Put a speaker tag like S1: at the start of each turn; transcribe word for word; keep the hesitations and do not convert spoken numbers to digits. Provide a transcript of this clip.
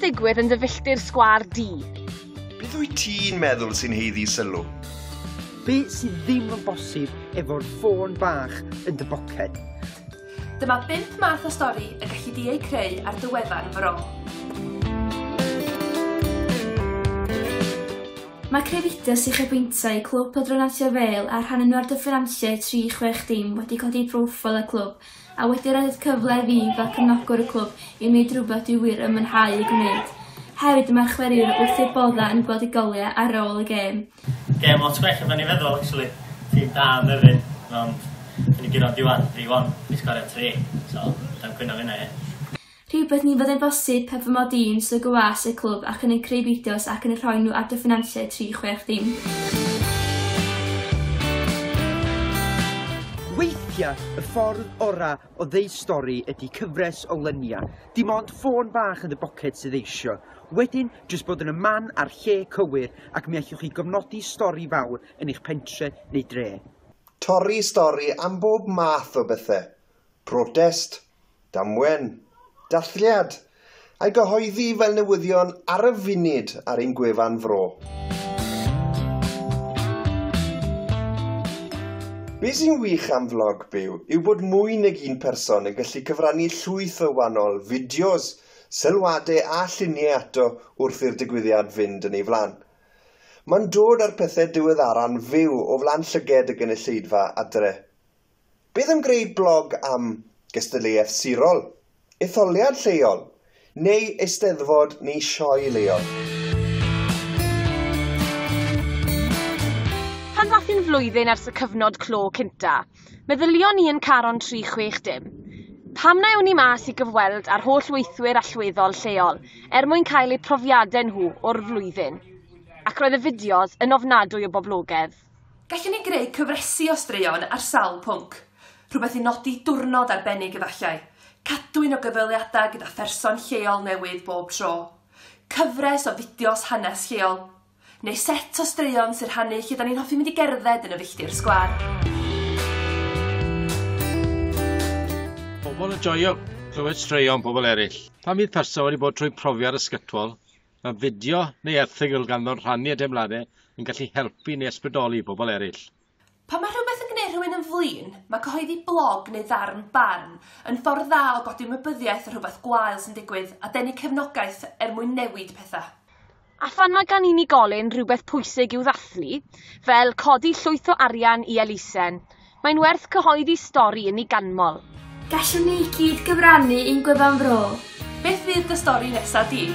S1: digwydd yn dy filltir sgwâr di?
S2: Beth wyt ti'n meddwl sy'n haeddu sylw?
S3: Be sydd ddim yn bosib efo'r ffôn bach yn dy boced?
S4: Dyma bump math o stori y galli di eu creu ar dy wefan fro.
S5: Mae creu fideos uchafbwyntiau Clwb Pêl-droed Nantlle Vale a rhannu nhw ar dy ffinanciau tri chwech dim wedi codi proffil y clwb a wedi rhoi'r cyfle i fi fel cefnogwr y clwb i wneud rhywbeth dwi wir yn mwynhau ei gwneud. Hefyd mae'r chwaraewyr wrth eu boddau yn gweld eu goliau ar ôl y gêm.
S6: Gêm lot gwell na o'n i'n feddwl, actually. Tîm da yn Nefyn, ond dyn ni guro diwedd tri un, ni sgorio tri, so dwi'n cwyno fyna, ie.
S5: Rhywbeth ni fyddai'n bosib heb fy mod i'n swydd gwas y clwb ac yn eu creu fideos ac yn eu rhoi nhw ar dy ffinanciau tri chwech dim.
S3: Weithiau, y ffordd ora o ddeud stori ydy cyfres o luniau. Dim ond ffôn bach yn dy boced sydd eisio. Wedyn, jyst bod yn y man a'r lle cywir ac mi allwch chi gofnodi stori fawr yn eich pentre neu dre.
S2: Torri stori am bob math o bethau. Protest, damwen, dathliad, a'i gyhoeddi fel newyddion ar y funud ar ein gwefan fro. Be sy'n wych am flog byw yw bod mwy nag un person yn gallu cyfrannu llwyth o wahanol fideos, sylwadau a lluniau ato wrth i'r digwyddiad fynd yn ei flaen. Mae'n dod â'r pethau diweddara'n fyw o flaen llyged y gynulleidfa adre. Beth am greu blog am gystadleuaeth sirol, etholiad lleol, neu eisteddfod neu sioe leol?
S1: Pan ddath hi'n flwyddyn ers y cyfnod clo cynta, meddylion ni yn Caron tri chwech dim. Pam na ewn ni mas i gyfweld â'r holl weithwyr allweddol lleol er mwyn cael eu profiadau nhw o'r flwyddyn? Ac roedd y fideos yn ofnadwy o boblogaidd.
S4: Gallwn ni greu cyfresi o straeon ar sawl pwnc. Rhywbeth i nodi diwrnod arbennig efallai. Cadwyn o gyfweliadau gyda pherson lleol newydd bob tro. Cyfres o fideos hanes lleol. Neu set o straeon sy'n rhannu lle da ni'n hoffi mynd i gerdded yn y filltir sgwâr.
S7: Pobl yn joio clywed straeon pobl eraill. Pan fydd person wedi bod trwy profiad ysgytwol, mae fideo neu erthygl ganddo'n rhannu y deimladau yn gallu helpu neu ysbrydoli pobl eraill.
S4: Pan mae rhywbeth yn gwneud rhywun yn flin, mae cyhoeddi blog neu ddarn barn yn ffordd dda o godi ymwybyddiaeth o rhywbeth gwael sy'n digwydd a denu cefnogaeth er mwyn newid pethau.
S1: A phan mae gan unigolyn rhywbeth pwysig i'w ddathlu, fel codi llwyth o arian i elusen, mae'n werth cyhoeddi stori yn ei ganmol.
S5: Gallwn ni gyd gyfrannu i'n gwefan fro.
S4: Beth fydd dy stori nesaf di?